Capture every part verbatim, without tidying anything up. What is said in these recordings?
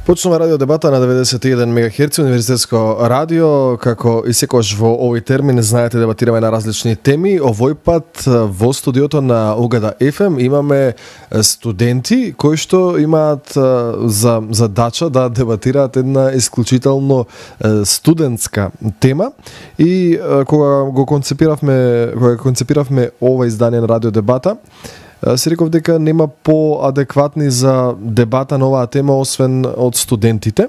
Почнува радио дебата на деветдесет и еден мегахерци, универзитетско радио. Како и секогаш во овој термин, знаете, дебатираме на различни теми. Овој пат во студиото на Угада еф ем имаме студенти кои што имаат за задача да дебатираат една исклучително студентска тема. И кога го концепиравме, кога концепиравме ова издание на радио дебата, си реков дека нема поадекватни за дебата на оваа тема освен од студентите.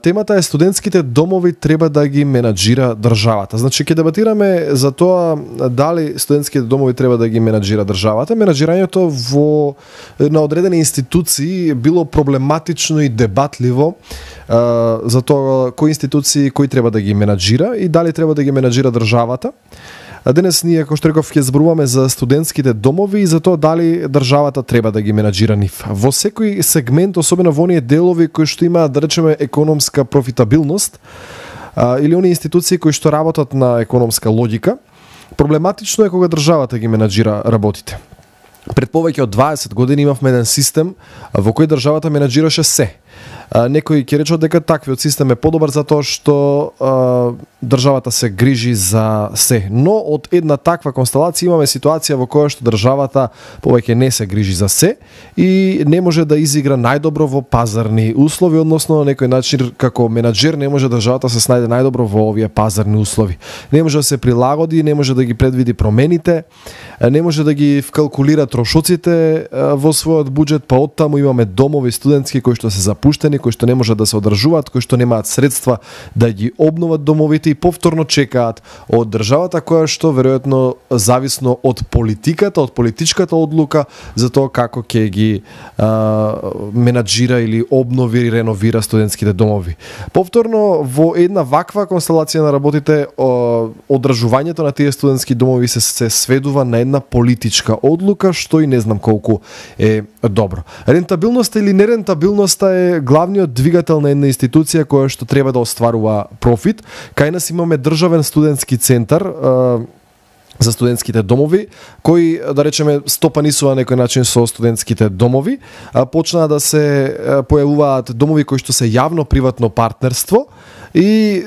Темата е студентските домови треба да ги менаџира државата. Значи ќе дебатираме за тоа дали студентските домови треба да ги менаџира државата. Менаџирањето во на одредени институции било проблематично и дебатливо за тоа кои институции кои треба да ги менаџира и дали треба да ги менаџира државата. А денес ние, како што реков, ќе зборуваме за студентските домови и за тоа дали државата треба да ги менаџира нив. Во секој сегмент, особено во оние делови кои што имаат, да речеме, економска профитабилност, а, или оние институции кои што работат на економска логика, проблематично е кога државата ги менаџира работите. Пред повеќе од дваесет години имавме еден систем во кој државата менаџираше се. Некои ќе речат дека таквиот систем е подобар затоа што а, државата се грижи за се. Но од една таква констелација имаме ситуација во која што државата повеќе не се грижи за се и не може да изигра најдобро во пазарни услови, односно на некој начин како менаџер не може државата се снајде најдобро во овие пазарни услови. Не може да се прилагоди, не може да ги предвиди промените, не може да ги вкалкулира трошоците во својот буџет, па оттаму имаме домови студентски кои што се запуштени, кои што не можат да се одржуваат, кои што немаат средства да ги обноват домовите и повторно чекаат од државата која што веројатно зависно од политиката, од политичката одлука за тоа како ќе ги а, менаџира или обнови и реновира студентските домови. Повторно во една ваква констелација на работите одржувањето на тие студентски домови се, се сведува на една политичка одлука што и не знам колку е добро. Рентабилноста или нерентабилноста е главниот двигател на една институција која што треба да остварува профит. Кај нас имаме државен студентски центар за студентските домови, кои, да речеме, стопанисува на некој начин со студентските домови. Почнаа да се појавуваат домови кои што се јавно-приватно партнерство и е,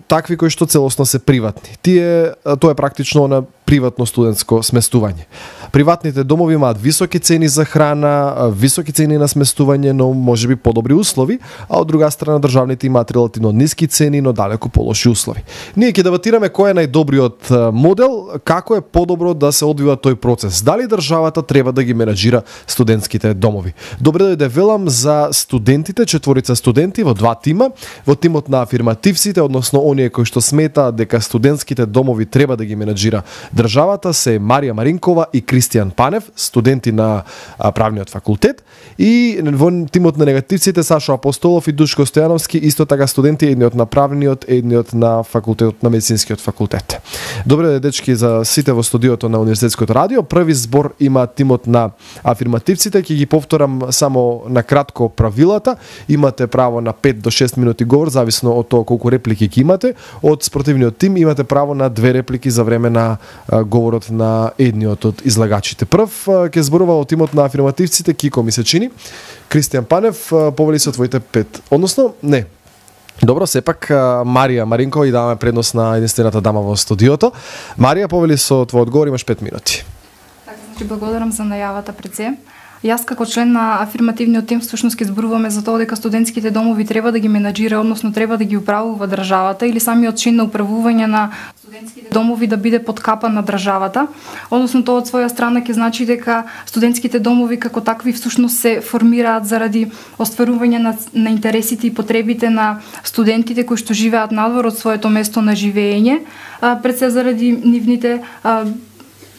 такви кои што целосно се приватни. Тие, тоа е практично на приватно студентско сместување. Приватните домови имаат високи цени за храна, високи цени на сместување, но можеби подобри услови, а од друга страна државните имаат релативно ниски цени, но далеку полоши услови. Ние ќе дебатираме кој е најдобриот модел, како е подобро да се одвива тој процес. Дали државата треба да ги менаџира студентските домови? Добре дојде велам за студентите, четворица студенти во два тима, во тимот на афирмативците, односно оние кои што сметаат дека студентските домови треба да ги менаџира државата, се Марија Маринкова и Кристијан Панев, студенти на правниот факултет, и во тимот на негативците Сашо Апостолов и Душко Стојановски, исто така студенти, едниот на правниот, едниот на факултетот на медицинскиот факултет. Добре дечки за сите во студиото на Универзитетското радио. Први збор има тимот на афирмативците, ќе ги повторам само на кратко правилата. Имате право на пет до шест минути говор, зависно од тоа колку реплики ќе имате. Од спротивниот тим имате право на две реплики за време на говорот на едниот од излагачите. Прв ќе зборува од тимот на афирмативците Кико ми се чини. Кристијан Панев, повели се твоите пет. Односно, не. Добро, сепак Марија Маринкова и даваме предност на единствената дама во студиото. Марија, повели со твој одговор, имаш пет минути. Така, значи благодарам за најавата пред се. Јас како член на афирмативниот тим всушност ќе зборуваме за тоа дека студентските домови треба да ги менаџира, односно треба да ги управува државата или самиот чин на управување на студентските домови да биде под капа на државата. Односно тоа од своја страна ќе значи дека студентските домови како такви всушност се формираат заради остварување на, на интересите и потребите на студентите кои што живеат надвор од своето место на живење, а, пред се заради нивните а,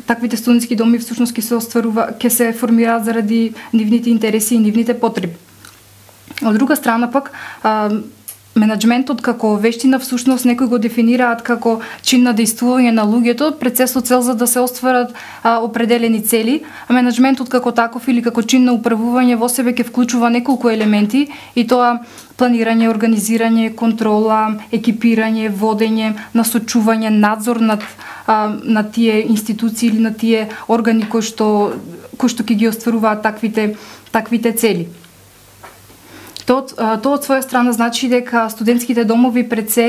таквите студентски доми всушност ќе се остварува, ќе се формираат заради нивните интереси и нивните потреби. Од друга страна пак, а, менаџментот како вештина всушност некои го дефинираат како чин на дејствување на луѓето пред се со цел за да се остварат а, определени цели, а менаџментот како таков или како чин на управување во себе ќе вклучува неколку елементи и тоа планирање, организирање, контрола, екипирање, водење, насочување, надзор над а, на тие институции или на тие органи кои што кои што ќе ги остваруваат таквите таквите цели. Тоа, тоа од своја страна значи дека студентските домови пред се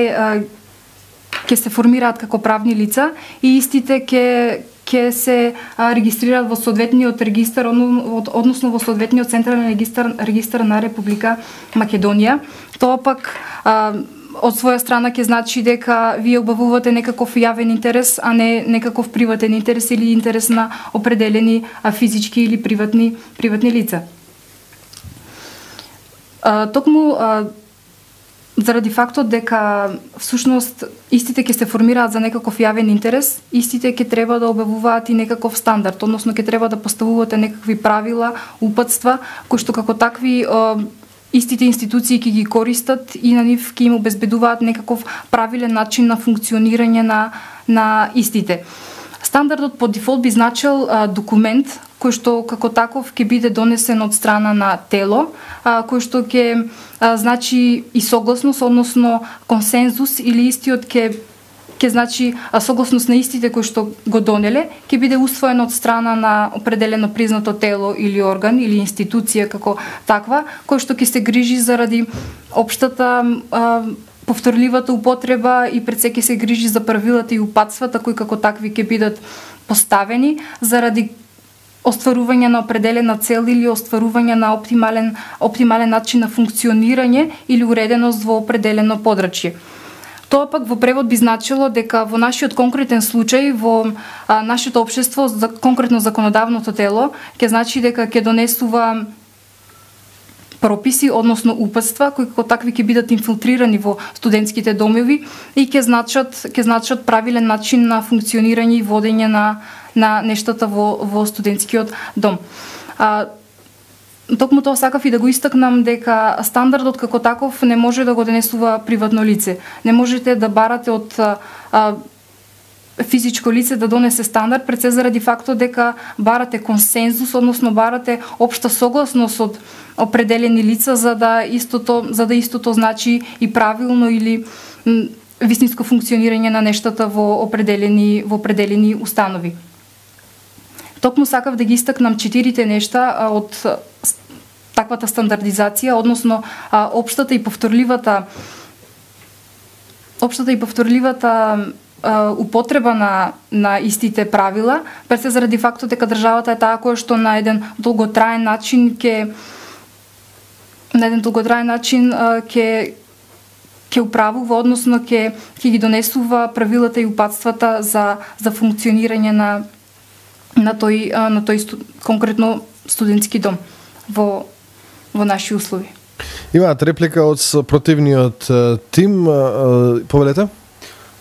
ќе се формираат како правни лица и истите ќе ќе се а, регистрираат во соодветниот регистар, односно во соодветниот централен регистар, регистар на Република Македонија. Тоа пак а, од своја страна ќе значи дека вие обавувате некаков јавен интерес, а не некаков приватен интерес или интерес на определени а, физички или приватни приватни лица. А, токму а, заради фактот дека всушност истите ќе се формираат за некаков јавен интерес, истите ќе треба да објавуваат и некаков стандард, односно ќе треба да поставувате некакви правила, упатства, кои што како такви истите институции ќе ги користат и на нив ќе им обезбедуваат некаков правилен начин на функционирање на на истите. Стандардот по дефолт би значил а, документ кој што како таков ќе биде донесен од страна на тело, а, кој што ќе а, значи и согласност, односно консензус или истиот ќе ќе значи а, согласност на истите кои што го донеле, ќе биде усвоен од страна на определено признато тело или орган или институција како таква, кој што ќе се грижи заради општата а, повторливата употреба и пред се ќе се грижи за правилата и упатствата кои како такви ќе бидат поставени заради остварување на определена цел или остварување на оптимален оптимален начин на функционирање или уреденост во определено подрачје. Тоа пак во превод би значило дека во нашиот конкретен случај во а, нашето општество, за конкретно законодавното тело, ќе значи дека ќе донесува прописи, односно упатства, кои како такви ќе бидат инфилтрирани во студентските домови и ќе значат ќе значат правилен начин на функционирање и водење на на нештата во во студентскиот дом. А, токму тоа сакав и да го истакнам дека стандардот како таков не може да го донесува приватно лице. Не можете да барате од а, физичко лице да донесе стандард пред се заради фактот дека барате консензус, односно барате општа согласност од определени лица за да истото за да истото значи и правилно или м, вистинско функционирање на нештата во определени во определени установи. Токму сакав да ги истакнам четирите нешта а, од таквата стандардизација, односно а, општата и повторливата општата и повторливата а, употреба на на истите правила, пред се заради фактот дека државата е таа која што на еден долготраен начин ќе на еден долготраен начин а, ќе ќе управува, односно ќе ќе ги донесува правилата и упатствата за за функционирање на на тој на тој сту, конкретно студентски дом во во наши услови. Имаат реплика од противниот тим, повелете?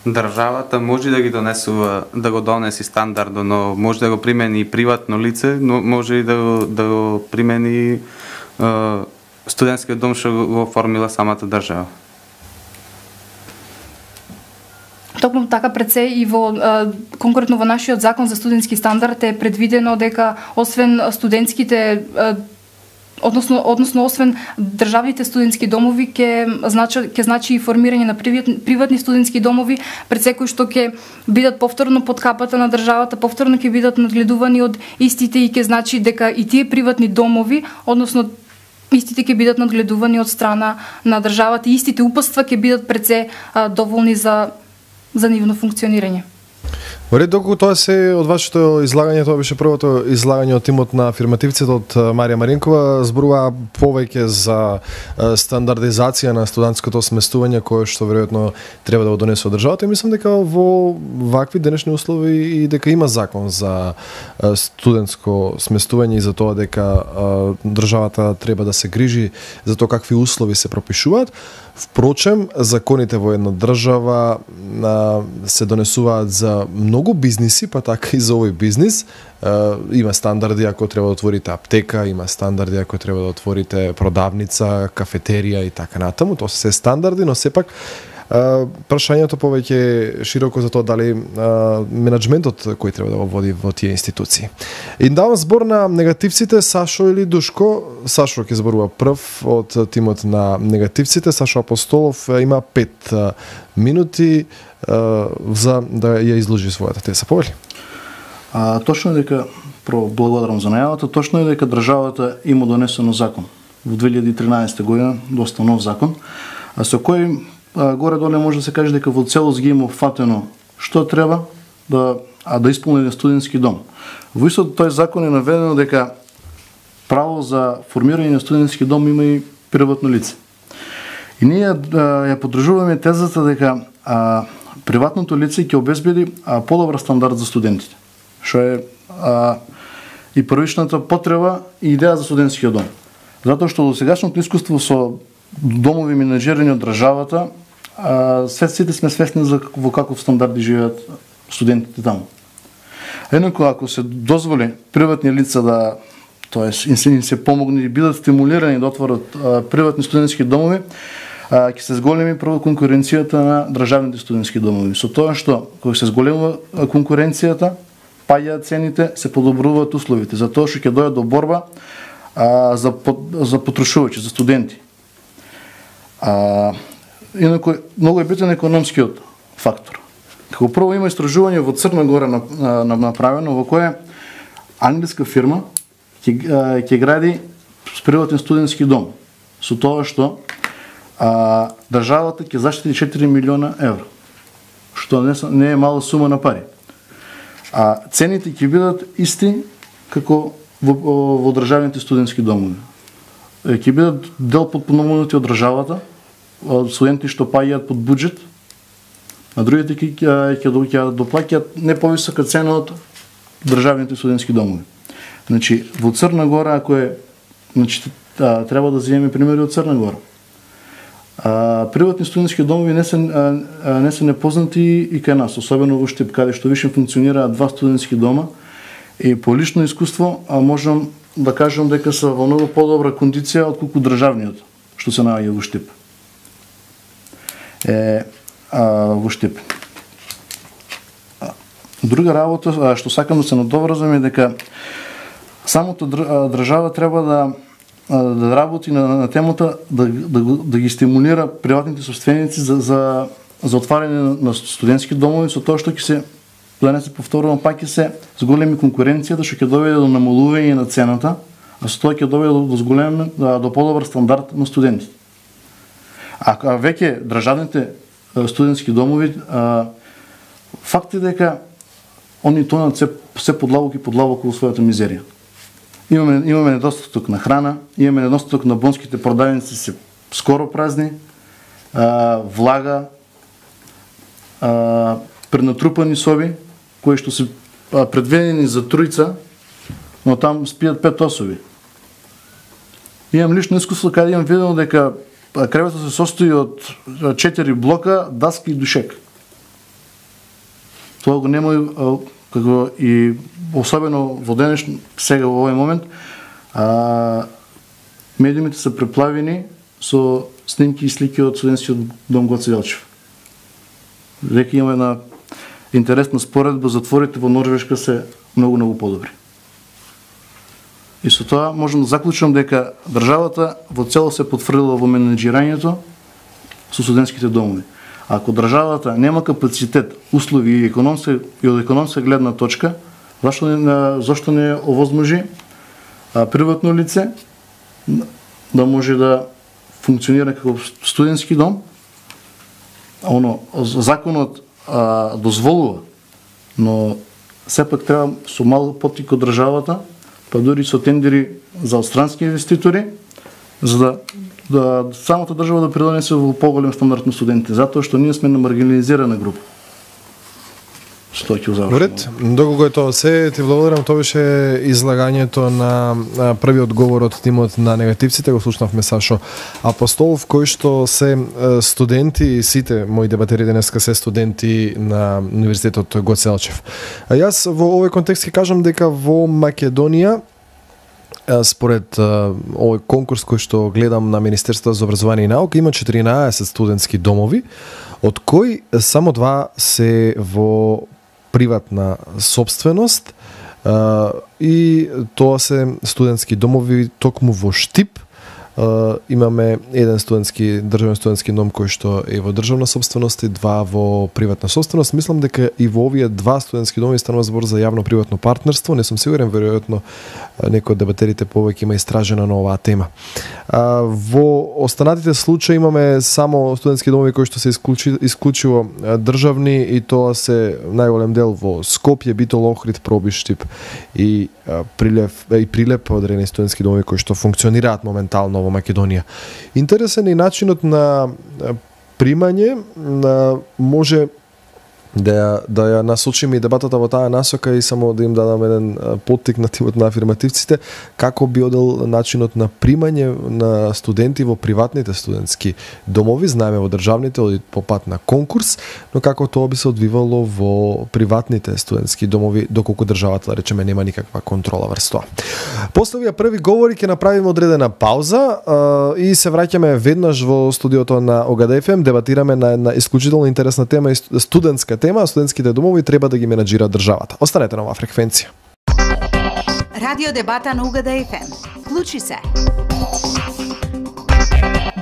Државата може да ги донесува, да го донеси стандардо, но може да го примени и приватно лице, но може и да го, да го примени е, студентскиот дом што го оформила самата држава. Токму така пред се и во а, конкретно во нашиот закон за студентски стандард е предвидено дека освен студентските а, односно односно освен државните студентски домови ќе значи ќе значи и формирање на приватни, приватни студентски домови пред секој што ќе бидат повторно под капата на државата, повторно ќе бидат надгледувани од истите и ќе значи дека и тие приватни домови, односно истите ќе бидат надгледувани од страна на државата и истите упатства ќе бидат пред се а, доволни за за нивно функционирање. Во ред, доколку тоа се од вашето излагање, тоа беше првото излагање од тимот на афирмативците од Марија Маринкова, зборува повеќе за стандардизација на студентското сместување кое што веројатно треба да го донесе државата и мислам дека во вакви денешни услови и дека има закон за студентско сместување и за тоа дека државата треба да се грижи за тоа какви услови се пропишуваат. Впрочем, законите во една држава а, се донесуваат за многу бизниси, па така и за овој бизнис. А, има стандарди ако треба да отворите аптека, има стандарди ако треба да отворите продавница, кафетерија и така натаму. Тоа се стандарди, но сепак Uh, прашањето повеќе широко за тоа дали uh, менеджментот кој треба да го води во тие институции. И давам збор на негативците, Сашо или Душко. Сашо ќе зборува прв од тимот на негативците. Сашо Апостолов има пет uh, минути uh, за да ја изложи својата теза. Повели? А, точно е дека, прво благодарам за најавата, точно е дека државата има донесено закон. во две илјади и тринаесета година, доста нов закон, а со кој а, горе-доле може да се каже дека во целост ги има опфатено што треба да, а да исполни студентски дом. Во истот тој закон е наведено дека право за формирање на студентски дом има и приватно лице. И ние а, ја поддржуваме тезата дека а, приватното лице ќе обезбеди а, подобар стандард за студентите, што е а, и првичната потреба и идеја за студентскиот дом. Затоа што до сегашното искуство со домови менаџирани од државата, а, сите сме свесни за во каков стандард живеат студентите таму. Еднакво ако се дозволи приватни лица да, тоест им се, им се помогне и бидат стимулирани да отворат а, приватни студентски домови, ќе се зголеми прво конкуренцијата на државните студентски домови. Со тоа што кога се зголемува конкуренцијата, паѓаат цените, се подобруваат условите, затоа што ќе дојде до борба а, за за потрошувачи, за студенти. А, инаку многу е битен економскиот фактор. Како прво има истражување во Црна Гора направено во кое англиска фирма ќе ќе гради приватен студентски дом со тоа што а, државата ќе заштити четири милиона евро, што не, не е мала сума на пари. А цените ќе бидат исти како во, во државните студентски домови. Ќе бидат дел подпомогнати од државата, од студенти што паѓаат под буџет, а другите ќе ќе доплаќаат не повисока цена од државните студентски домови. Значи во Црна Гора, ако е, значи а, треба да земеме примери од Црна Гора. А, приватни студентски домови не се а, а, не се непознати и кај нас, особено во Штип, каде што више функционираат два студентски дома. И по лично искуство а, можам да кажам дека се во многу подобра кондиција отколку државниот што се наоѓа во Штип. Е, а, во Штип. Друга работа а, што сакам да се надоврзам е дека самото држава треба да да работи на, на темата да, да, да ги стимулира приватните собственици за, за, за отварање на студентски домови, со тоа што ќе се, да не се повторувам, пак ќе се зголеми конкуренцијата, што ќе доведе до намалување на цената, а со тоа ќе доведе до зголем, до подобар стандард на студентите. А, а веќе државните студентски домови, а, факт е дека они тонат се, се подлабоки и подлабоко во својата мизерија. Имаме, имаме недостаток на храна, имаме недостаток на бонските продавници се скоро празни, а, влага, а, пренатрупани соби, кои што се а, предвидени за тројца, но там спијат пет особи. Имам лично искуство каде имам видено дека креветот се состои од четири блока, даска и душек. Тоа го нема како и особено во денеш, сега во овој момент, а, медиумите се преплавени со снимки и слики од студентскиот дом Гоце Делчев. Дека има една интересна споредба, затворите во Норвешка се многу, многу подобри. И со тоа можам да заклучам дека државата во цело се потврдила во менеджирањето со студентските домови. Ако државата нема капацитет, услови и економска и од економска гледна точка, зашто не зашто не овозможи а, приватно лице да може да функционира како студентски дом? Оно законот а, дозволува, но сепак треба со мал поттик од државата, па дури со тендери за странски инвеститори, за да да самата држава да придонесе во поголем стандард на студентите, затоа што ние сме на маргинализирана група. Што ќе завршам? Ред, доколку е тоа се, ти благодарам, тоа беше излагањето на првиот говор од тимот на негативците, го слушнавме Сашо Апостолов, кој што се студенти, сите мои дебатери денеска се студенти на Универзитетот Гоце Делчев. А јас во овој контекст ќе кажам дека во Македонија според овој конкурс кој што гледам на Министерството за образование и наука, има четиринаесет студентски домови, од кои само два се во приватна собственост и тоа се студентски домови токму во Штип, имаме еден студентски државен студентски дом кој што е во државна собственост и два во приватна собственост. Мислам дека и во овие два студентски доми станува збор за јавно-приватно партнерство. Не сум сигурен, веројатно некој од дебатерите повеќе има истражено на оваа тема. Во останатите случаи имаме само студентски домови кои што се исклучи, исклучиво државни и тоа се најголем дел во Скопје, Битол, Охрид, Пробиштип и Прилеп и Прилеп, одредени студентски домови кои што функционираат моментално во Македонија. Интересен е начинот на примање, на може да ја, да ја насочиме и дебатата во таа насока и само да им дадам еден поттик на тимот на афирмативците, како би одел начинот на примање на студенти во приватните студентски домови. Знаеме во државните оди по пат на конкурс, но како тоа би се одвивало во приватните студентски домови, доколку државата, да речеме, нема никаква контрола врз тоа. После овие први говори ќе направиме одредена пауза а, и се враќаме веднаш во студиото на ОГД еф ем, дебатираме на една исклучително интересна тема и студентска тема, студентските домови треба да ги менаџира државата. Останете на оваа фреквенција. Радио дебата на УГД еф ем. Вклучи се.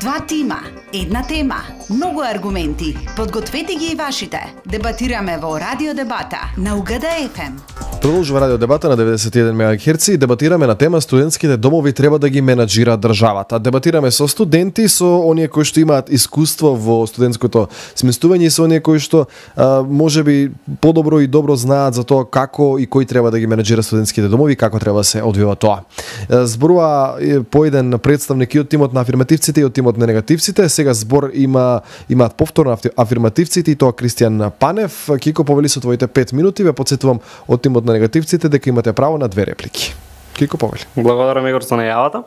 Два тима, една тема, многу аргументи. Подгответе ги и вашите. Дебатираме во Радио дебата на УГД еф ем. Продолжува Радио дебата на деветдесет и еден мегахерци и дебатираме на тема студентските домови треба да ги менаџира државата. Дебатираме со студенти, со оние кои што имаат искуство во студентското сместување и со оние кои што а, можеби подобро и добро знаат за тоа како и кој треба да ги менаџира студентските домови и како треба да се одвива тоа. Зборува по еден представник и од тимот на афирмативците и од тимот на негативците. Сега збор има имаат повторно афирмативците и тоа Кристијан Панев. Кико, повели со твоите пет минути, ве потсетувам од тимот на негативците дека имате право на две реплики. Кико, повели. Благодарам, Игор, за најавата.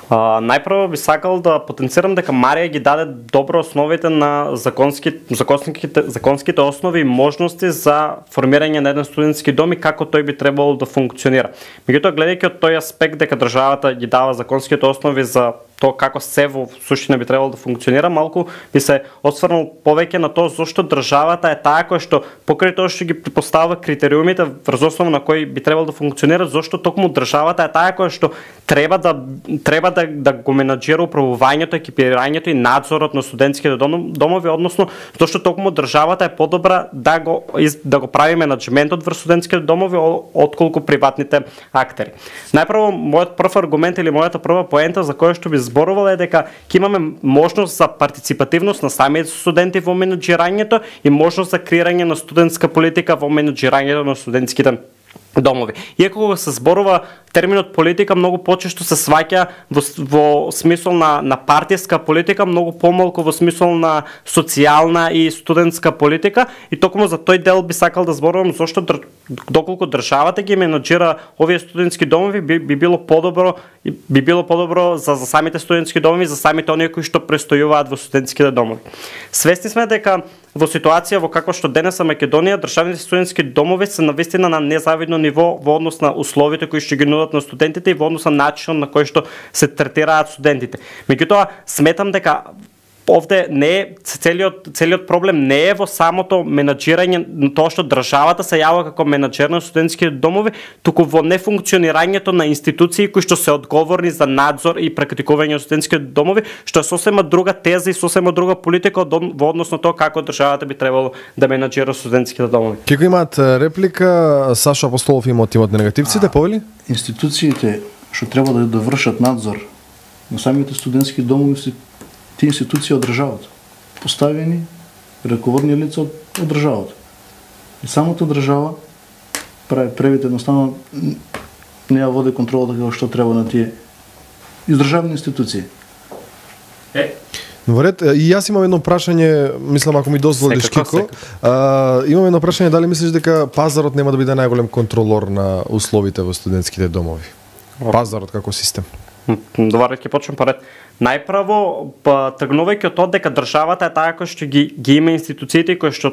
Uh, најпрво би сакал да потенцирам дека Марија ги даде добро основите на законски, законските, законските основи и можности за формирање на еден студентски дом и како тој би требало да функционира. Меѓутоа, гледајќи од тој аспект дека државата ги дава законските основи за тоа како се во суштина би требало да функционира, малку би се осврнал повеќе на тоа зошто државата е таа која што покрај тоа што ги поставува критериумите врз основа на кои би требало да функционира, зошто токму државата е таа која што треба да треба да, да го менаџира управувањето, екипирањето и надзорот на студентските домови, односно зошто токму државата е подобра да го да го прави менаџментот врз студентските домови отколку приватните актери. Најпрво, мојот прв аргумент или мојата прва поента за која што би зборувала е дека ќе имаме можност за партиципативност на самите студенти во менаџирањето и можност за креирање на студентска политика во менаџирањето на студентските домови. Иако кога се зборува терминот политика, многу почесто се сваќа во, во смисол на, на партиска политика, многу помалку во смисол на социјална и студентска политика, и токму за тој дел би сакал да зборувам зошто др... доколку државата ги менаџира овие студентски домови, би, би било подобро би било подобро за, за самите студентски домови, за самите оние кои што престојуваат во студентските домови. Свесни сме дека во ситуација во каква што денес е Македонија, државните студентски домови се навистина на незавидно ниво во однос на условите кои што ги нудат на студентите и во однос на начинот на кој што се третираат студентите. Меѓутоа, сметам дека овде не е целиот целиот проблем не е во самото менаџирање, тоа што државата се јавува како менаџер на студентските домови, туку во нефункционирањето на институции кои што се одговорни за надзор и практикување на студентските домови, што е сосема друга теза и сосема друга политика во однос на тоа како државата би требало да менаџира студентските домови. Кико имаат реплика, Сашо Апостолов има од тимот на негативците, повели? Институциите што треба да, да вршат надзор на самите студентски домови се тие институции од државата, поставени раководни лица од, од државата. И самата држава прави превид едноставно не ја води контролата како што треба на тие издржавни институции. Е. Во ред, и јас имам едно прашање, мислам ако ми дозволиш, Кико. А, имам едно прашање, дали мислиш дека пазарот нема да биде најголем контролор на условите во студентските домови? Пазарот како систем. Добар, ќе почнем поред. Најпрво, тргнувајќи од тоа дека државата е таа која што ги, ги има институциите кои што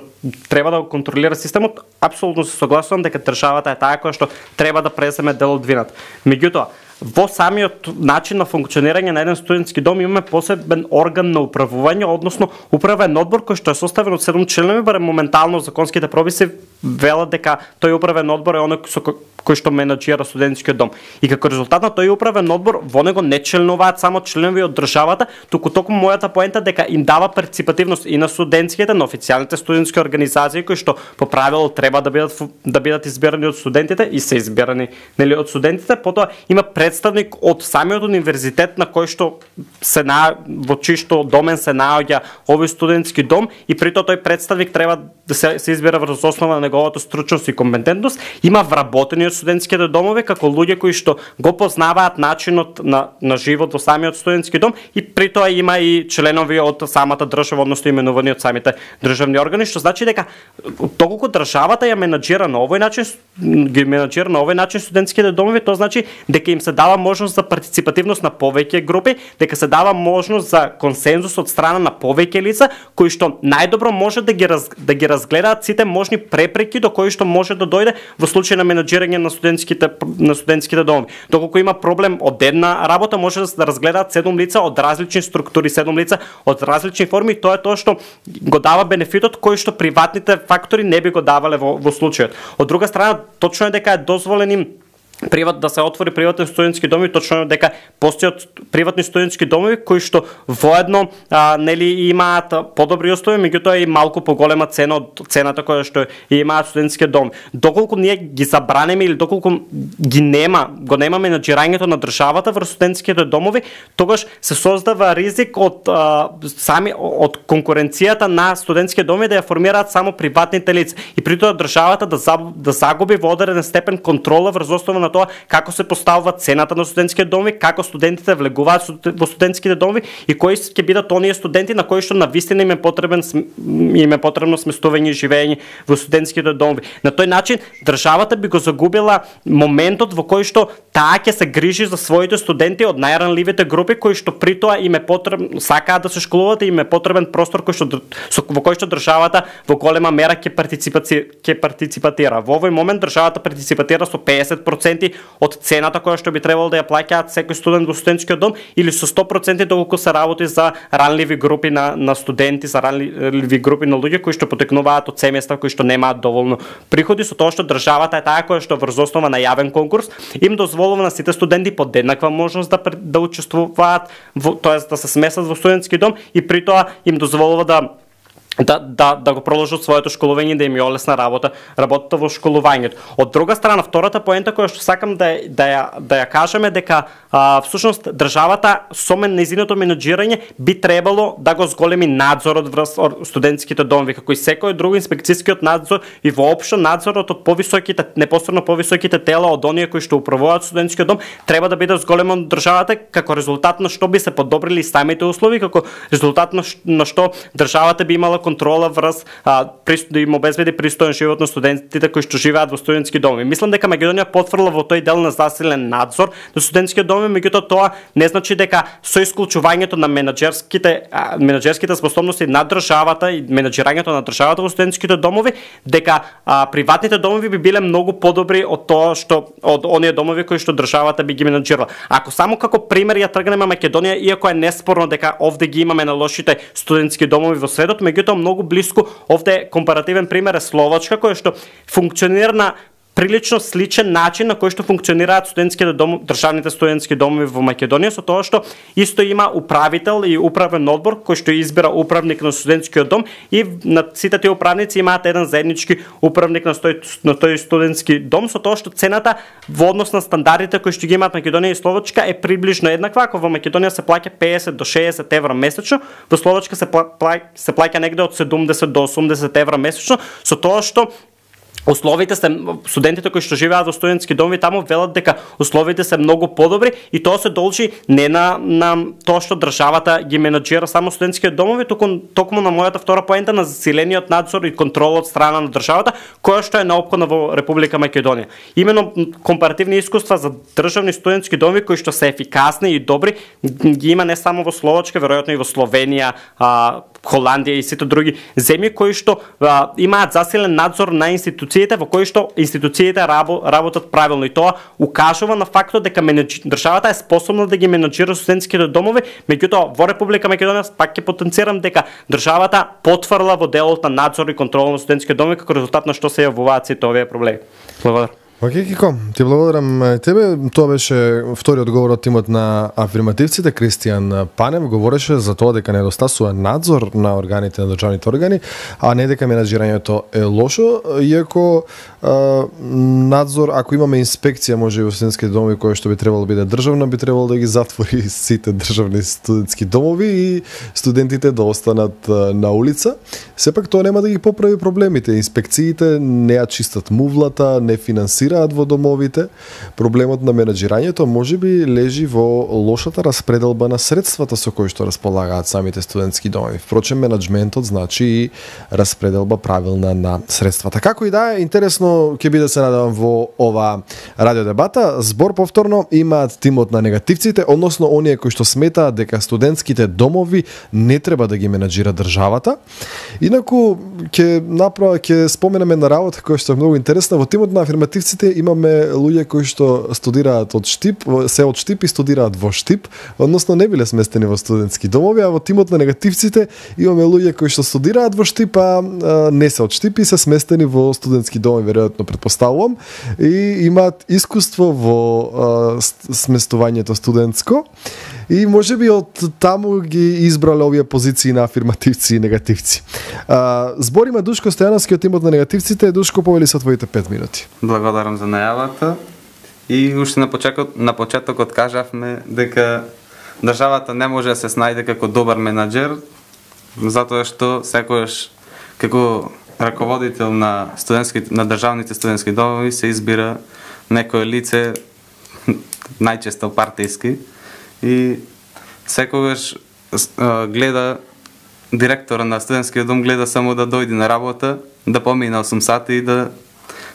треба да го контролира системот, апсолутно се согласувам дека државата е таа која што треба да преземе дел од вината. Меѓутоа, во самиот начин на функционирање на еден студентски дом имаме посебен орган на управување, односно управен одбор кој што е составен од седум членови, барем моментално законските прописи велат дека тој управен одбор е оној со кој што менаџира студентскиот дом. И како резултат на тој управен одбор во него не членуваат само членови од државата, туку токму мојата поента дека им дава партиципативност и на студентските, на официјалните студентски организации кои што по правило треба да бидат да бидат избирани од студентите и се избирани нели од студентите, потоа има представник од самиот универзитет на кој што се на во чиј што домен се наоѓа овој студентски дом и при тоа тој представник треба да се, се избира врз основа на неговата стручност и компетентност. Има вработени од студентските домови како луѓе кои што го познаваат начинот на, на живот во самиот студентски дом и при тоа има и членови од самата држава, односно именувани од самите државни органи, што значи дека доколку државата ја менаџира на овој начин, ги менаџира на овој начин студентските домови, тоа значи дека им се дава можност за партиципативност на повеќе групи, дека се дава можност за консензус од страна на повеќе лица кои што најдобро може да ги раз, да ги разгледаат сите можни препреки до кои што може да дојде во случај на менаџирање на студентските на студентските домови. Доколку има проблем од една работа, може да се разгледаат седум лица од различни структури, седум лица од различни форми, тоа е тоа што го дава бенефитот кој што приватните фактори не би го давале во, во случајот. Од друга страна, точно е дека е дозволен им приват да се отвори приватни студентски домови, точно дека постојат приватни студентски домови кои што воедно а, нели имаат подобри услови, меѓутоа и малку поголема цена од цената која што имаат студентски доми. Доколку ние ги забранеме или доколку ги нема, го нема менаџирањето на државата врз студентските домови, тогаш се создава ризик од а, сами од конкуренцијата на студентски домови да ја формираат само приватните лица и при тоа државата да, заб, да загуби во одреден степен контрола врз основа на тоа како се поставува цената на студентските домови, како студентите влегуваат во студентските домови и кои ќе бидат оние студенти на кои што навистина им е потребен им е потребно сместување и живење во студентските домови. На тој начин државата би го загубила моментот во кој што таа ќе се грижи за своите студенти од најранливите групи кои што при тоа им е потребно сакаат да се школуваат и им е потребен простор кој што во кој што државата во голема мера ќе партиципаци ќе партиципатира. Во овој момент државата партиципатира со песет проценти од цената која што би требало да ја плаќаат секој студент во студентскиот дом или со сто проценти доколку се работи за ранливи групи на, на студенти, за ранливи групи на луѓе кои што потекнуваат од семејства кои што немаат доволно приходи, со тоа што државата е таа која што врз основа на јавен конкурс им дозволува на сите студенти под еднаква можност да да учествуваат, тоест да се смесат во студентски дом и при тоа им дозволува да Да, да, да го продолжат своето школување, да им ја олесна работа, работата во школувањето. Од друга страна, втората поента која што сакам да, да, ја, да ја кажеме дека а, всушност државата со нејзиното менаџирање би требало да го зголеми надзорот врз студентските домови, како и секој друг инспекцијскиот надзор и воопшто надзорот од повисоките, непосредно повисоките тела од оние кои што управуваат студентскиот дом треба да биде зголемен од државата, како резултат на што би се подобрили самите услови, како резултат на, на што државата би имала контрола врз а, да им обезбеди пристоен живот на студентите кои што живеат во студентски домови. Мислам дека Македонија потврдила во тој дел на засилен надзор на студентски домови, меѓутоа тоа не значи дека со исклучувањето на менаџерските а, менаџерските способности на државата и менаџирањето на државата во студентските домови, дека а, приватните домови би биле многу подобри од тоа што од оние домови кои што државата би ги менаџирала. Ако само како пример ја тргнеме Македонија, иако е неспорно дека овде ги имаме на лошите студентски домови во светот, меѓутоа многу блиску овде компаративен пример е Словачка која што функционира на прилично сличен начин на кој што функционираат студентските дом, државните студентски домови во Македонија, со тоа што исто има управител и управен одбор кој што избира управник на студентскиот дом и на сите тие управници имаат еден заеднички управник на тој на тој студентски дом, со тоа што цената во однос на стандардите кои што ги имаат Македонија и Словачка е приближно еднаква. Ако во Македонија се плаќа песет до шеесет евра месечно, во Словачка се плаќа се плаќа негде од седумдесет до осумдесет евра месечно, со тоа што условите се студентите кои што живеат во студентски домови таму велат дека условите се многу подобри и тоа се должи не на на тоа што државата ги менаџира само студентските домови, туку токму на мојата втора поента на засилениот надзор и контрол од страна на државата, која што е неопходна во Република Македонија. Имено компаративни искуства за државни студентски домови кои што се ефикасни и добри ги има не само во Словачка, веројатно и во Словенија, а, Холандија и сите други земји кои што а, имаат засилен надзор на институциите во кои што институциите работат правилно и тоа укажува на фактот дека менеджи, државата е способна да ги менаџира студентските домови, меѓутоа во Република Македонија пак ќе потенцирам дека државата потврла во делот на надзор и контрол на студентските домови како резултат на што се јавуваат сите овие проблеми. Благодарам. Океј, Кико, ти благодарам тебе. Тоа беше втори одговор од тимот на афирмативците. Кристијан Панев говореше за тоа дека недостасува надзор на органите, на државните органи, а не дека менаџирањето е лошо, иако а, надзор, ако имаме инспекција, може и во студентски домови која што би требало биде државна, би требало да ги затвори сите државни студентски домови и студентите да останат а, на улица. Сепак тоа нема да ги поправи проблемите. Инспекциите не ја чистат мувлата, не финансираат во домовите. Проблемот на менаџирањето можеби лежи во лошата распределба на средствата со кои што располагаат самите студентски домови. Впрочем, менаџментот значи и распределба правилна на средствата. Како и да е, интересно ќе биде се надевам во ова радио дебата. Збор повторно имаат тимот на негативците, односно оние кои што сметаат дека студентските домови не треба да ги менаџира државата. Инаку ќе направо ќе споменеме на работа која што е многу интересна. Во тимот на афирмативците имаме луѓе кои што студираат од Штип, се од Штип и студираат во Штип, односно не биле сместени во студентски домови, а во тимот на негативците имаме луѓе кои што студираат во Штип, а не се од Штип и се сместени во студентски домови, веројатно претпоставувам, и имаат искуство во а, сместувањето студентско. И може би од таму ги избрале овие позиции на афирмативци и негативци. А, збориме Душко Стојановски од тимот на негативците. Душко, повели со твоите пет минути. Благодарам за најавата. И уште на почетокот, на почетокот кажавме дека државата не може да се снајде како добар менаџер, затоа што секогаш како раководител на студентските на државните студентски домови се избира некое лице, најчесто партиски, и секогаш а, гледа директора на студентскиот дом гледа само да дојде на работа, да помине осум сати и да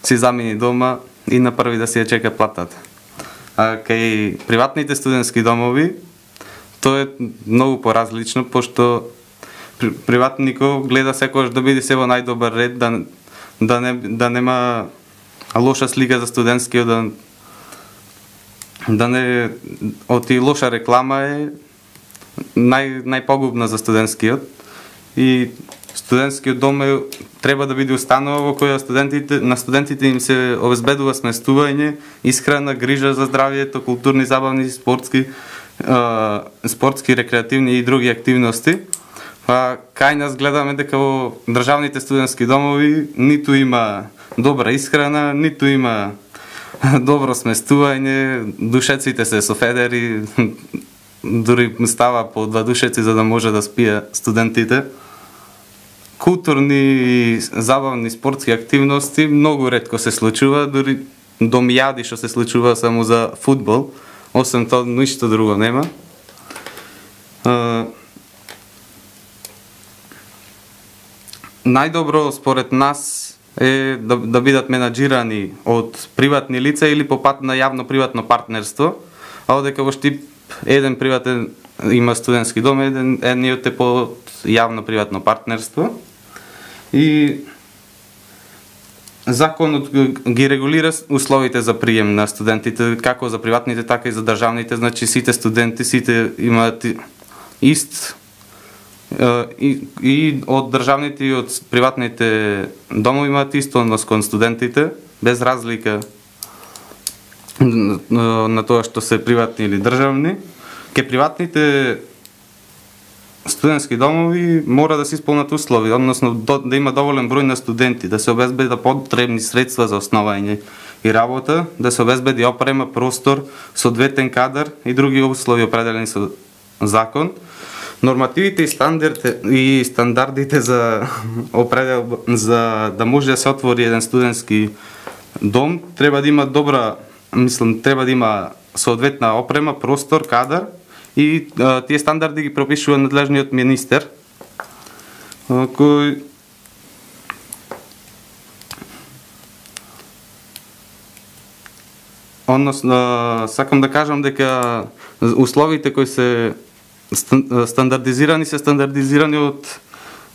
си замени дома и на први да си ја чека платата. А кај приватните студентски домови тоа е многу поразлично, пошто приватникот гледа секогаш да биде се во најдобар ред, да да не да нема лоша слика за студентскиот, да да не оти лоша реклама е нај најпогубна за студентскиот, и студентскиот дом е, треба да биде установа во која студентите на студентите им се обезбедува сместување, исхрана, грижа за здравјето, културни, забавни, спортски, е, спортски, рекреативни и други активности. А кај нас гледаме дека во државните студентски домови ниту има добра исхрана, ниту има добро сместување, душеците се со федери, дури става по два душеци за да може да спие студентите. Културни и забавни спортски активности многу ретко се случува, дури домјади што се случува само за фудбал, освен тоа ништо друго нема. Најдобро според нас е да, да бидат менаџирани од приватни лица или по пат на јавно-приватно партнерство, а одека во Штип еден приватен има студентски дом, еден едниот е по јавно-приватно партнерство. И законот ги регулира условите за прием на студентите, како за приватните, така и за државните, значи сите студенти, сите имаат ист и, и од државните и од приватните домови имаат исто однос кон студентите, без разлика на тоа што се приватни или државни. Ке приватните студентски домови мора да се исполнат услови, односно да има доволен број на студенти, да се обезбедат потребни средства за основање и работа, да се обезбеди опрема, простор, соодветен кадар и други услови определени со закон. Нормативите и стандардите и стандардите за определ за да може да се отвори еден студентски дом треба да има добра, мислам, треба да има соодветна опрема, простор, кадар, и а, тие стандарди ги пропишува надлежниот министер, а, кој односно сакам да кажам дека условите кои се стандардизирани се стандардизирани од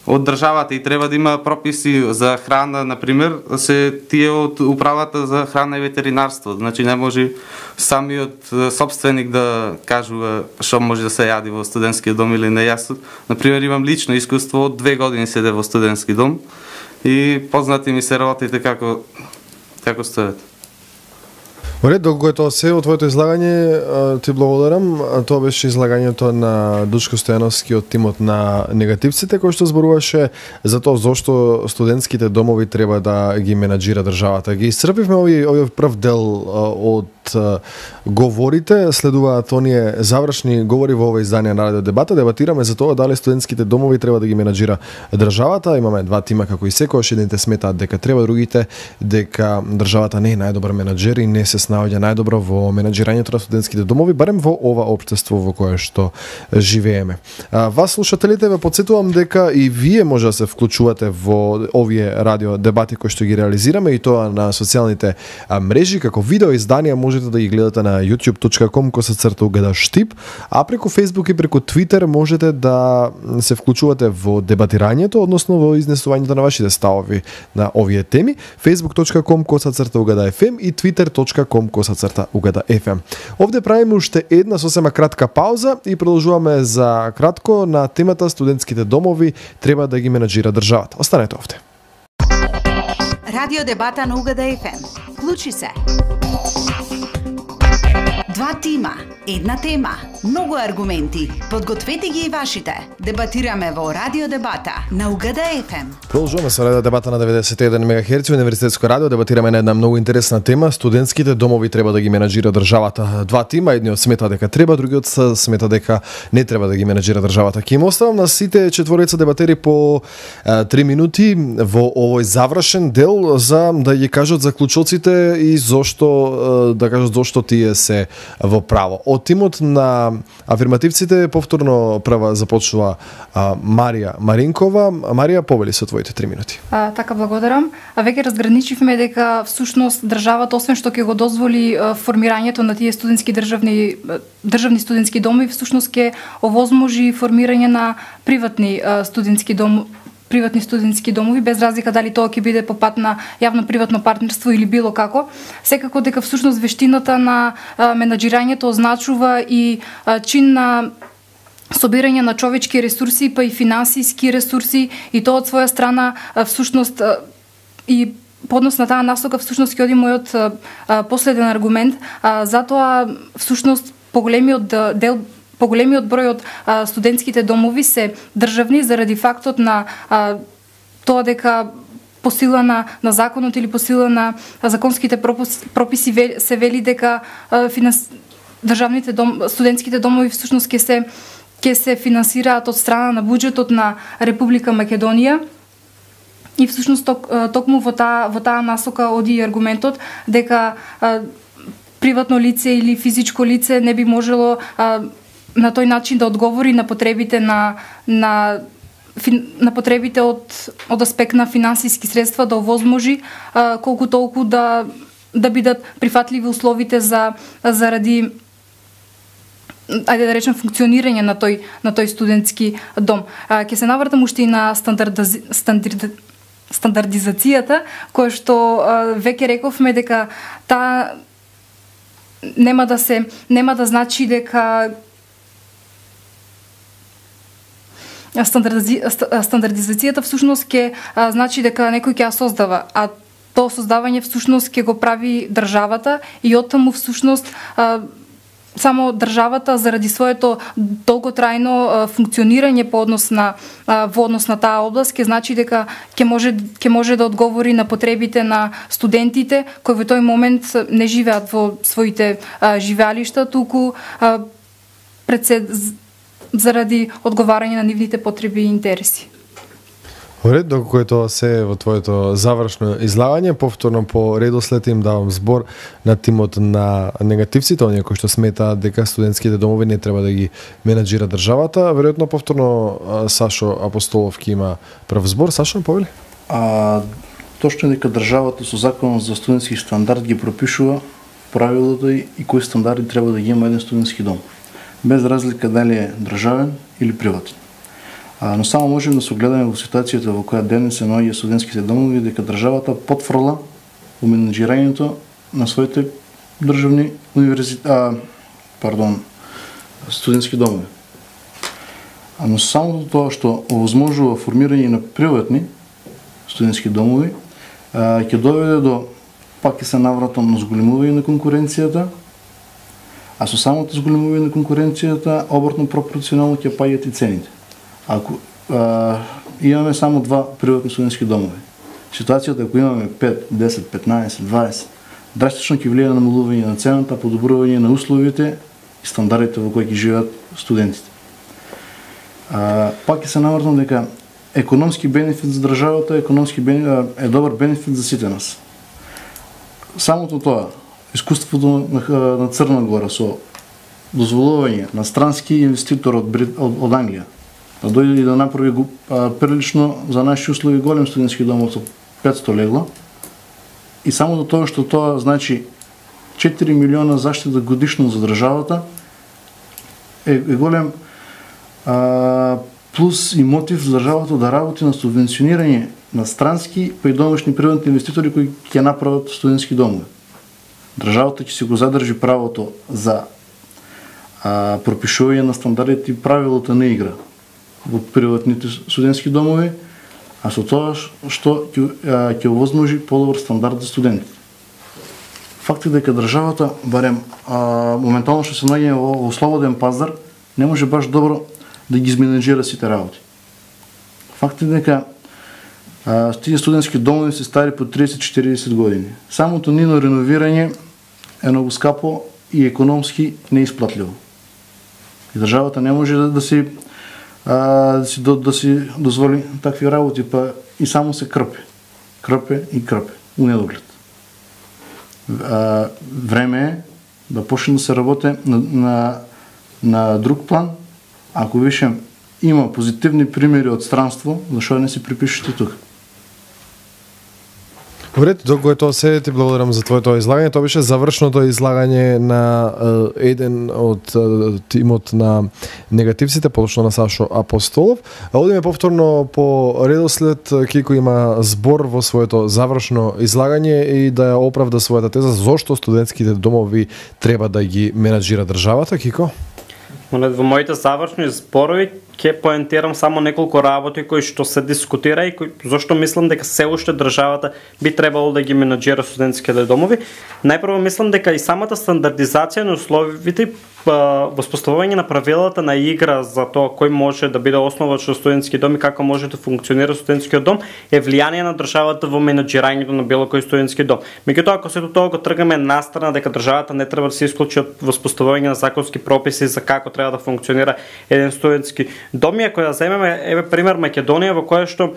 од државата и треба да има прописи за храна, например, се тие од управата за храна и ветеринарство. Значи не може самиот собственик да кажува што може да се јади во студентскиот дом или не. Јас, например, имам лично искуство, од две години седе во студентски дом и познати ми се работите како како стојат. Ред, доколку е тоа се од твоето излагање, ти благодарам. Тоа беше излагањето на Дучко Стојановски од тимот на негативците, кој што зборуваше за тоа зошто студентските домови треба да ги менаџира државата. Ги исцрпивме овој овој прв дел од говорите, следуваат оние завршни говори во ова издание на Радио Дебата. Дебатираме за тоа дали студентските домови треба да ги менаџира државата. Имаме два тима како и секојаш, едните сметаат дека треба, другите дека државата не е најдобар менаџер и не се наоѓа најдобро во менаџирањето на студентските домови, барем во ова општество во кое што живееме. А, вас слушателите ве потсетувам дека и вие може да се вклучувате во овие радио дебати кои што ги реализираме, и тоа на социјалните мрежи како видео изданија. Можете да ги гледате на youtube точка com косацрта угада штип, а преку Facebook и преку Twitter можете да се вклучувате во дебатирањето, односно во изнесувањето на вашите ставови на овие теми. facebook точка com косацрта угада еф ем и twitter точка com косацрта угада еф ем. Овде правиме уште една сосема кратка пауза и продолжуваме за кратко на темата студентските домови треба да ги менаџира државата. Останете овде. Радио Дебата на Угада еф ем. Вклучи се. Два тима, една тема, многу аргументи. Подгответе ги и вашите. Дебатираме во Радио Дебата на Угада еф ем. Продолжуваме со Радио Дебата на деветдесет и еден мегахерци Универзитетско радио. Дебатираме на една многу интересна тема. Студентските домови треба да ги менаџира државата. Два тима, едниот смета дека треба, другиот смета дека не треба да ги менаџира државата. Ќе им оставам на сите четворица дебатери по е, три минути во овој завршен дел за да ги кажат заклучоците и зошто е, да кажат зошто тие се во право. Од тимот на афирмативците повторно прва започнува а, Марија Маринкова. Марија, повели со твоите три минути. А, така, благодарам. А веќе разграничивме дека всушност државата, освен што ќе го дозволи а, формирањето на тие студентски државни државни студентски домови, всушност ќе овозможи формирање на приватни а, студентски домови приватни студентски домови, без разлика дали тоа ќе биде по пат на јавно-приватно партнерство или било како. Секако дека всушност вештината на а, менаџирањето означува и а, чин на собирање на човечки ресурси, па и финансиски ресурси, и тоа од своја страна а, всушност а, и по однос на таа насока всушност ќе оди мојот а, а, последен аргумент. А, затоа всушност поголемиот дел Поголемиот број од а, студентските домови се државни заради фактот на а, тоа дека по сила на, на законот или по сила на законските прописи се вели дека а, финанс... државните дом... студентските домови всушност ќе се ќе се финансираат од страна на буџетот на Република Македонија. И всушност ток, токму во таа во таа насока оди аргументот дека а, приватно лице или физичко лице не би можело а, на тој начин да одговори на потребите на на на потребите од од аспект на финансиски средства, да овозможи а, колку толку да да бидат прифатливи условите за заради ајде да речем функционирање на тој на тој студентски дом. А, ќе се навртам уште и на стандардази, стандард, стандардизацијата, која што а, веќе рековме дека таа нема да се нема да значи дека Стандарди... стандардизацијата всушност ќе а, значи дека некој ќе ја создава, а тоа создавање всушност ќе го прави државата, и оттаму всушност а, само државата заради своето долготрајно а, функционирање по однос на а, во однос на таа област ќе значи дека ќе може ќе може да одговори на потребите на студентите кои во тој момент не живеат во своите а, живеалишта, туку а, председ заради одговарање на нивните потреби и интереси. Ред, доколку е тоа се во твоето завршно излагање, повторно по редослед им давам збор на тимот на негативците, оние кои што сметаат дека студентските домови не треба да ги менаџира државата. Веројатно повторно Сашо Апостоловки има прв збор. Сашо, повели? А, точно е дека државата со законот за студентски стандард ги пропишува правилото и кои стандарди треба да ги има еден студентски дом, без разлика дали е државен или приватен. А, но само можем да се огледаме во ситуацијата во која денес се наоѓа студентските домови, дека државата потфрла во менаџирањето на своите државни универзитети, а, пардон, студентски домови. А, но само тоа што овозможува формирање на приватни студентски домови, а, ќе доведе до пак ќе се навратам на зголемување на конкуренцијата, а со самото зголемување на конкуренцијата обратно пропорционално ќе паѓат и цените. Ако а, имаме само два приватни студентски домови, ситуацијата ако имаме пет, десет, петнаесет, дваесет, драстично ќе влијае на намалување на цената, подобрување на условите и стандардите во кои ќе живеат студентите. А, пак ќе се навратам дека економски бенефит за државата, економски бенефит, е добар бенефит за сите нас. Самото тоа, искуството на, на Црна Гора со дозволување на странски инвеститор од, од, од Англија да дојде и да направи а, прилично за наши услови голем студентски домов со петсто легла, и само до тоа што тоа значи четири милиона заштита годишно за државата е, е голем а, плюс и мотив за државата да работи на субвенционирање на странски па и домашни приватни инвеститори кои ќе направат студентски домови. Државата ќе си го задржи правото за а, пропишување на стандардите и правилата на игра во приватните студентски домови, а со тоа што ќе овозможи подобар стандард за студентите. Факт е дека државата, барем а, моментално што се наоѓа во, во слободен пазар, не може баш добро да ги изменеджира сите работи. Факт е дека а, тие студентски домови се стари по триесет до четириесет години. Самото нино реновирање е многу скапо и економски неисплатливо. И државата не може да, да си а, да си да, да си дозволи такви работи, па и само се крпе. Крпе и крпе у недоглед. А, време е да почне да се работи на, на, на друг план. Ако више има позитивни примери од странство, зашо не си припишете тука? Добре, доколку е тоа се, ти благодарам за твоето излагање. Тоа беше завршното излагање на е, еден од е, тимот на негативците, подошно на Сашо Апостолов. А одиме повторно по редослед. Кико има збор во своето завршно излагање и да ја оправда својата теза зошто студентските домови треба да ги менаџира државата. Кико? Во моите завршни зборови ќе поентирам само неколку работи кои што се дискутира и кои, зашто мислам дека се уште државата би требало да ги менаџира студентските домови. Најпрво мислам дека и самата стандардизација на условите, воспоставување на правилата на игра за тоа кој може да биде основач на студентски дом и како може да функционира студентскиот дом е влијание на државата во менаџирањето на било кој студентски дом. Меѓутоа, ако сето тоа го тргаме настрана дека државата не треба да се исклучи од воспоставување на законски прописи за како треба да функционира еден студентски дом, и ако ја земеме еве пример Македонија во која што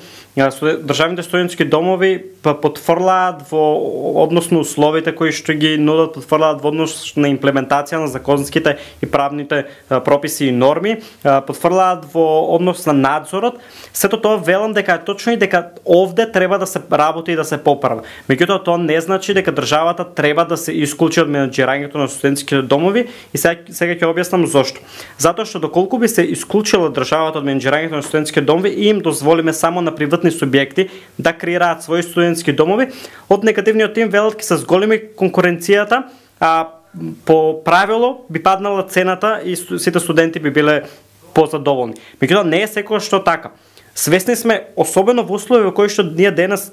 државните студентски домови потврлаат во односно условите кои што ги нудат, потврлаат во однос на имплементација на законските и правните а, прописи и норми, а, потврлаат во однос на надзорот. Сето тоа велам дека е точно и дека овде треба да се работи и да се поправи. Меѓутоа тоа не значи дека државата треба да се исклучи од менаџирањето на студентските домови, и сега, сега ќе објаснам зошто. Затоа што доколку би се исклучила државата од менаџирањето на студентските домови и им дозволиме само на приватни субјекти да креираат своји студентски домови, од негативниот тим велат ќе се зголеми конкуренцијата, а по правило би паднала цената и сите студенти би биле позадоволни. Меѓутоа не е секогаш што така. Свесни сме, особено во услови во кои што ние денес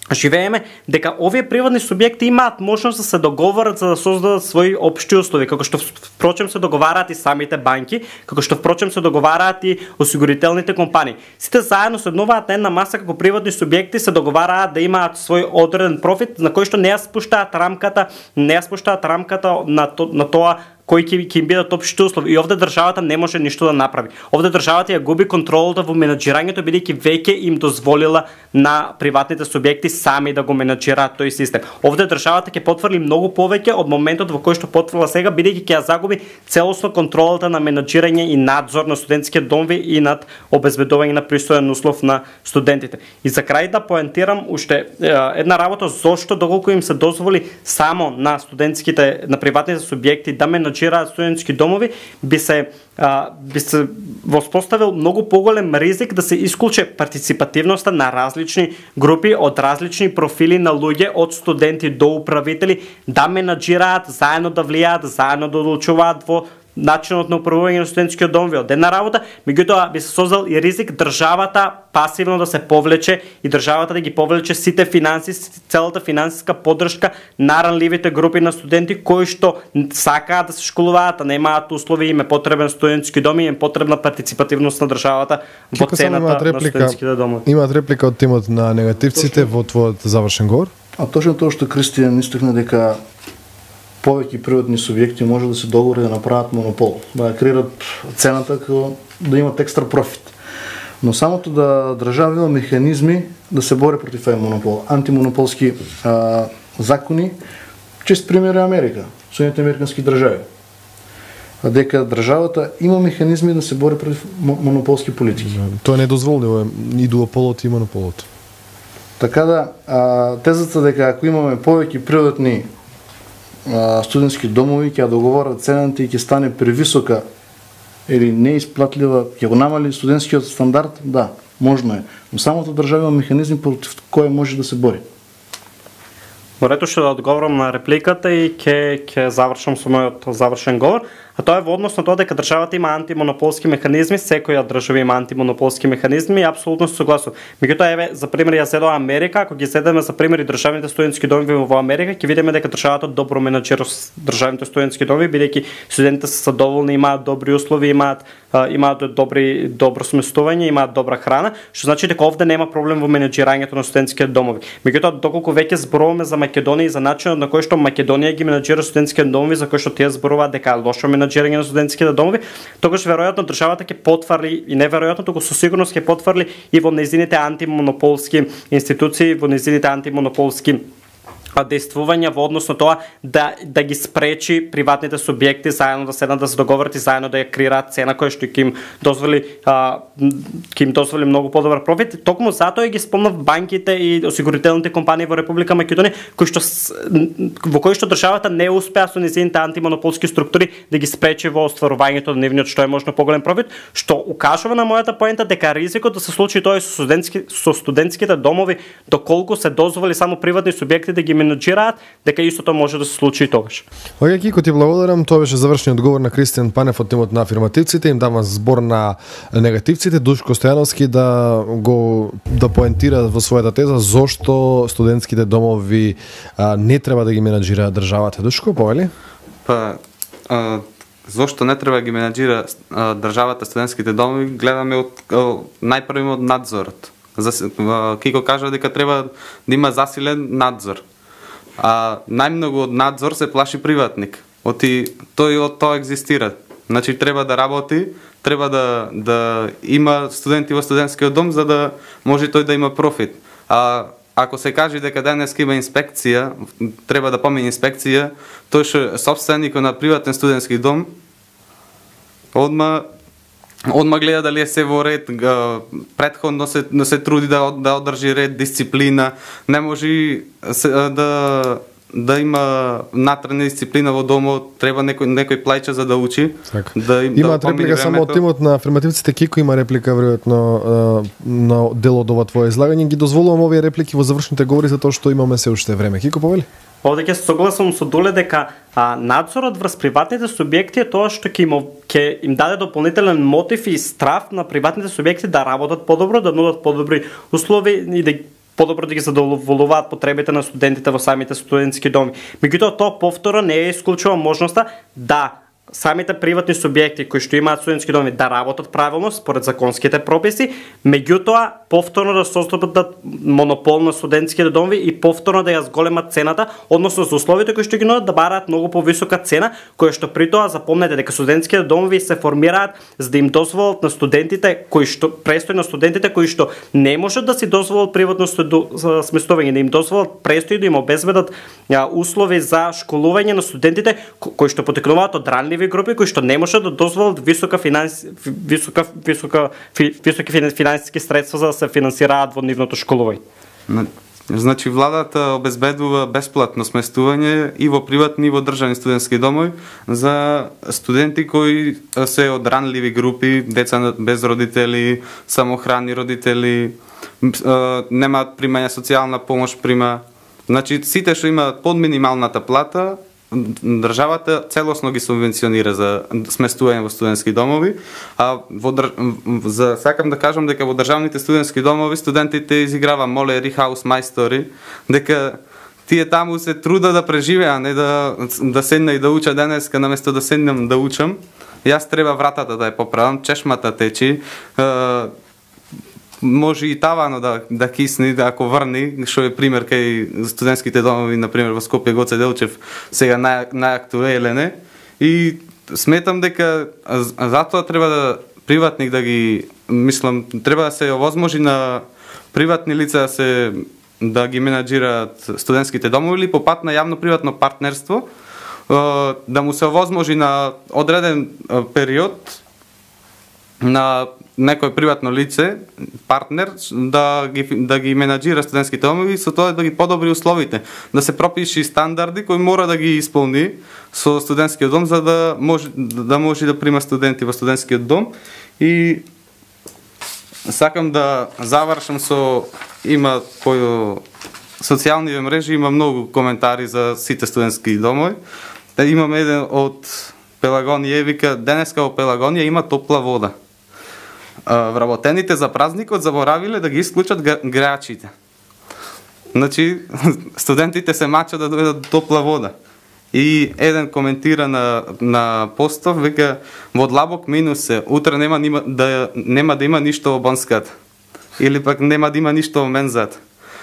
живееме, дека овие приватни субјекти имаат можност да се договорат за да создадат своји општи услови, како што впрочем се договараат и самите банки, како што впрочем се договараат и осигурителните компании. Сите заедно седнуваат на една маса како приватни субјекти, се договараат да имаат свој одреден профит на кој што не ја спуштаат рамката, не ја спуштаат рамката на, то, на тоа кои ќе ќе им бидат општи услови. И овде државата не може ништо да направи. Овде државата ја губи контролата во менаџирањето, бидејќи веќе им дозволила на приватните субјекти сами да го менаџираат тој систем. Овде државата ќе потврди многу повеќе од моментот во кој што потврдила сега, бидејќи ќе ја загуби целосно контролата на менаџирање и надзор на студентските домови и над обезбедување на пристоен услов на студентите. И за крај да поентирам уште една работа зошто доколку им се дозволи само на студентските, на приватните субјекти да менаџираат студентски домови, би се а, би се воспоставил многу поголем ризик да се исклучи партиципативноста на различни групи од различни профили на луѓе, од студенти до управители, да менаџираат, заедно да влијаат, заедно да одлучуваат во начинот на управување на студентскиот домови од една работа, меѓутоа би се создал и ризик државата пасивно да се повлече и државата да ги повлече сите финанси, целата финансиска поддршка на ранливите групи на студенти кои што сакаат да се школуваат, а немаат услови, им е потребен студентски дом и им е потребна партиципативност на државата во цената на студентските домови. Имаат реплика од тимот на негативците во твојот завршен говор? А точно тоа што Кристијан истакна дека повеќе приватни субјекти може да се договори да направат монопол, да креират цената како да имат екстра профит. Но самото да држава има механизми да се бори против овој монопол, антимонополски а, закони, чест пример е Америка, Соединените американски држави. А дека државата има механизми да се бори против монополски политики. Тоа не дозволува и дуополот и монополот. Така да, а, тезата дека ако имаме повеќе приватни а, студентски домови, ќе договорат цената и ќе стане превисока или неисплатлива, ќе го намали студентскиот стандард, да, можно е. Но самото држава има механизми против кој може да се бори. Во рето што да одговорам на репликата и ќе ќе завршам со мојот завршен говор, а тоа е во однос на тоа дека државата има антимонополски механизми, секоја држава има антимонополски механизми и апсолутно се согласувам. Меѓутоа еве за пример ја зедоа Америка, ако ги зедеме за пример и државните студентски домови во Америка, ќе видиме дека државата добро менаџира државните студентски домови, бидејќи студентите се задоволни, имаат добри услови, имаат имаат добри добро сместување, имаат добра храна, што значи дека овде нема проблем во менаџирањето на студентските домови. Меѓутоа доколку веќе зборуваме за Македонија и за начинот на кој што Македонија ги менаџира студентските домови, за кој што тие зборуваат дека лошо менаџирање на студентските домови, тогаш веројатно државата ќе потврди и неверојатно туку со сигурност ќе потврди и во нејзините антимонополски институции, во нејзините антимонополски действувања во однос на тоа да да ги спречи приватните субјекти заедно да седнат да се договорат и заедно да ја креираат цена која што ќе им дозволи а, ќе им дозволи многу подобар профит. Токму затоа ги спомнав банките и осигурителните компании во Република Македонија кои што во кои што државата не успеа со нејзините антимонополски структури да ги спречи во остварувањето на нивниот што е можно поголем профит, што укажува на мојата поента дека ризикот да се случи тоа и со студентски со студентските домови доколку се дозволи само приватни субјекти да ги менаџираат, дека истото може да се случи и тогаш. Оѓа Кико, ти благодарам. Тоа беше завршниот одговор на Кристијан Панев од тимот на афирмативците. Им дава збор на негативците. Душко Стојановски да го да поентира во својата теза зошто студентските домови а, не треба да ги менаџира државата. Душко, повели? Па, а, зошто не треба да ги менаџира а, државата студентските домови, гледаме од најпрво од надзорот. За, а, Кико кажа дека треба да има засилен надзор. А најмногу од надзор се плаши приватник. Оти тој од тоа екзистира. Значи треба да работи, треба да да има студенти во студентскиот дом за да може тој да има профит. А ако се каже дека денеска има инспекција, треба да помине инспекција, тој што собственикот на приватен студентски дом одма Одма гледа дали е се во ред, претходно се, да се труди да, да одржи ред, дисциплина, не може се, да, да има натрена дисциплина во домот, треба некој, некој плаќа за да учи. Так. Да им, Имаат да реплика само од тимот на афирмативците. Кико има реплика веројатно на дел од ова твое излагање. Ги дозволувам овие реплики во завршните говори затоа што имаме се уште време. Кико, повели? Овде ќе се согласам со Дуле дека а, надзорот врз приватните субјекти е тоа што ќе им, ќе им даде дополнителен мотив и страв на приватните субјекти да работат подобро, да нудат подобри услови и да подобро да ги задоволуваат потребите на студентите во самите студентски доми. Меѓутоа тоа повторно не е исклучува можноста да самите приватни субјекти кои што имаат студентски доми да работат правилно според законските прописи, меѓутоа повторно да создадат монопол на студентските доми и повторно да ја зголемат цената, односно за условите кои што ги нудат да бараат многу повисока цена, која што при тоа запомнете дека студентските домови се формираат за да им дозволат на студентите кои што престои на студентите кои што не можат да си дозволат приватно сместување, да им дозволат престои да им обезбедат услови за школување на студентите кои што потекнуваат од ранливи групи кои што не можат да дозволат висока финанс висока висока високи финансиски средства за да се финансираат во нивното школување. Значи владата обезбедува бесплатно сместување и во приватни и во државни студентски домови за студенти кои се од ранливи групи, деца без родители, самохрани родители, немаат примање социјална помош, прима. Значи сите што имаат под минималната плата државата целосно ги субвенционира за сместување во студентски домови, а во држ... за сакам да кажам дека во државните студентски домови студентите изиграва молери, хаус мајстори, дека тие таму се труда да преживеа, а не да да седна и да уча денеска наместо да седнам да учам. Јас треба вратата да ја поправам, чешмата течи, може и тавано да, да кисни, да ако врни, што е пример кај студентските домови, например во Скопје, Гоце Делчев, сега нај, најактуелен е. И сметам дека затоа треба да приватник да ги, мислам, треба да се овозможи на приватни лица да се да ги менаџираат студентските домови или по пат на јавно-приватно партнерство, да му се овозможи на одреден период на некој приватно лице, партнер, да ги, да ги менаџира студентските домови и со тоа да ги подобри условите, да се пропиши стандарди кои мора да ги исполни со студентскиот дом за да може да може да прима студенти во студентскиот дом. И сакам да завршам со има по социјални мрежи има многу коментари за сите студентски домови. Да имаме еден од Пелагонија вика денеска во Пелагонија има топла вода. Вработените за празникот заборавиле да ги исклучат греачите. Значи, студентите се мачат да дојдат до топла вода. И еден коментира на, на постов, века, во длабок минус се, утре нема, нема, да, нема да има ништо во бонската. Или пак нема да има ништо во мензата.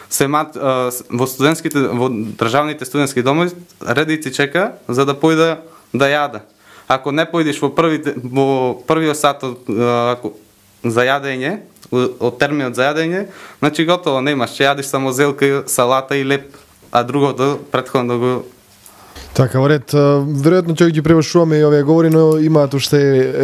Се мат, а, во студентските, во државните студентски домови, редици чека за да појде да јада. Ако не појдеш во првите, во првиот сат од, ако, за јадење, од терминот за јадење, значи готово немаш, ќе јадиш само зелка, салата и леп, а другото претходно го. Така, во ред, веројатно ќе ги превршуваме и овие говори, но имаат уште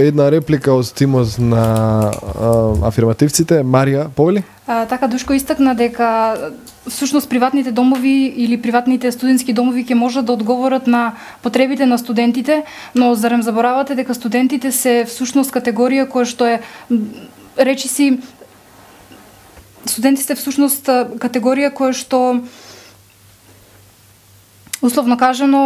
една реплика од тимот на а, афирмативците. Марија, повели? А, така, Душко истакна дека всушност приватните домови или приватните студентски домови ќе можат да одговорат на потребите на студентите, но зарем заборавате дека студентите се всушност категорија која што е, речи си, студентите се всушност категорија која што условно кажано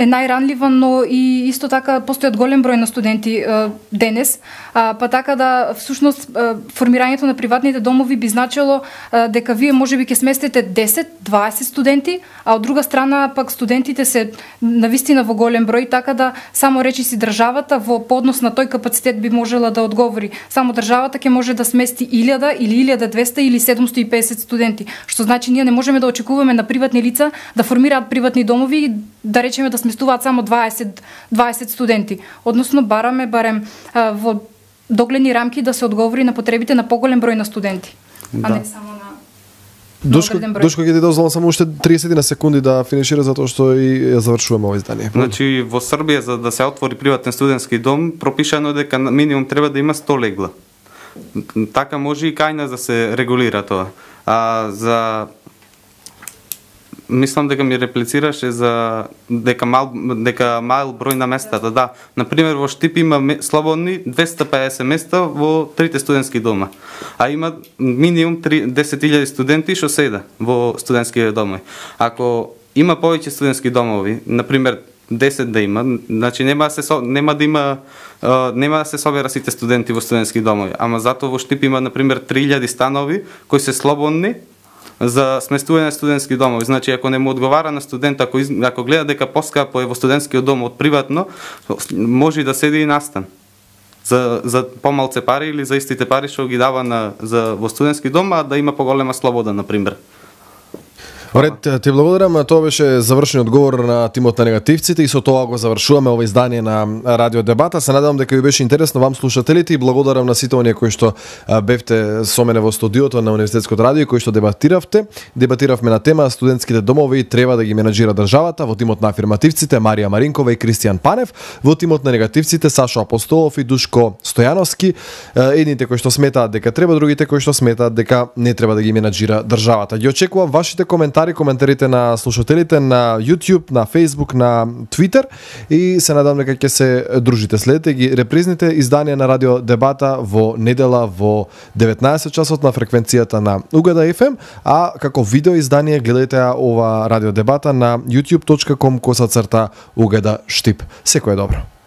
е најранлива, но и исто така постојат голем број на студенти е, денес, а, па така да всушност е, формирањето на приватните домови би значило е, дека вие можеби ќе сместите десет дваесет студенти, а од друга страна пак студентите се навистина во голем број, така да само речи си државата во поднос на тој капацитет би можела да одговори. Само државата ќе може да смести илјада или илјада и двесте или седумсто и песет студенти, што значи ние не можеме да очекуваме на приватни лица да формираат приватни домови и да речеме да сместуваат само дваесет дваесет студенти. Односно бараме барем а, во догледни рамки да се одговори на потребите на поголем број на студенти, да. А не само на Душко, Душко ќе ти дозволам само уште триесет на секунди да финишира затоа што и ја завршуваме овој издание. Значи во Србија за да се отвори приватен студентски дом пропишано дека минимум треба да има сто легла. Така може и кај нас да се регулира тоа. А за мислам дека ми реплицираше за дека мал дека мал број на местата, да. На пример во Штип има слободни двесте и педесет места во трите студентски дома. А има минимум десет илјади студенти што седа во студентски домови. Ако има повеќе студентски домови, на пример десет да има, значи нема да се нема да има нема да се собера сите студенти во студентски домови, ама затоа во Штип има на пример три илјади станови кои се слободни за сместување на студентски домови. Значи, ако не му одговара на студент, ако, из... ако гледа дека поскапо е во студентскиот дом од приватно, може и да седи и настан. За, за помалце пари или за истите пари што ги дава на, за, во студентски дом, а да има поголема слобода, например. Ред, ти благодарам. Тоа беше завршен одговор на тимот на негативците и со тоа го завршуваме ова издание на Радио Дебата. Се надевам дека ви беше интересно вам слушателите и благодарам на сите оние кои што бевте со мене во студиото на Универзитетското радио кои што дебатиравте. Дебатиравме на тема студентските домови треба да ги менаџира државата. Во тимот на афирмативците Марија Маринкова и Кристијан Панев, во тимот на негативците Сашо Апостолов и Душко Стојановски. Едните кои што сметаат дека треба, другите кои што сметаат дека не треба да ги менаџира државата. Ги очекувам вашите коментари коментари, коментарите на слушателите на YouTube, на Facebook, на Twitter и се надам дека ќе се дружите. Следете ги репризните изданија на Радио Дебата во недела во деветнаесет часот на фреквенцијата на Угада еф ем, а како видео издание гледајте ова Радио Дебата на youtube точка com косацрта Угада Штип. Секое добро.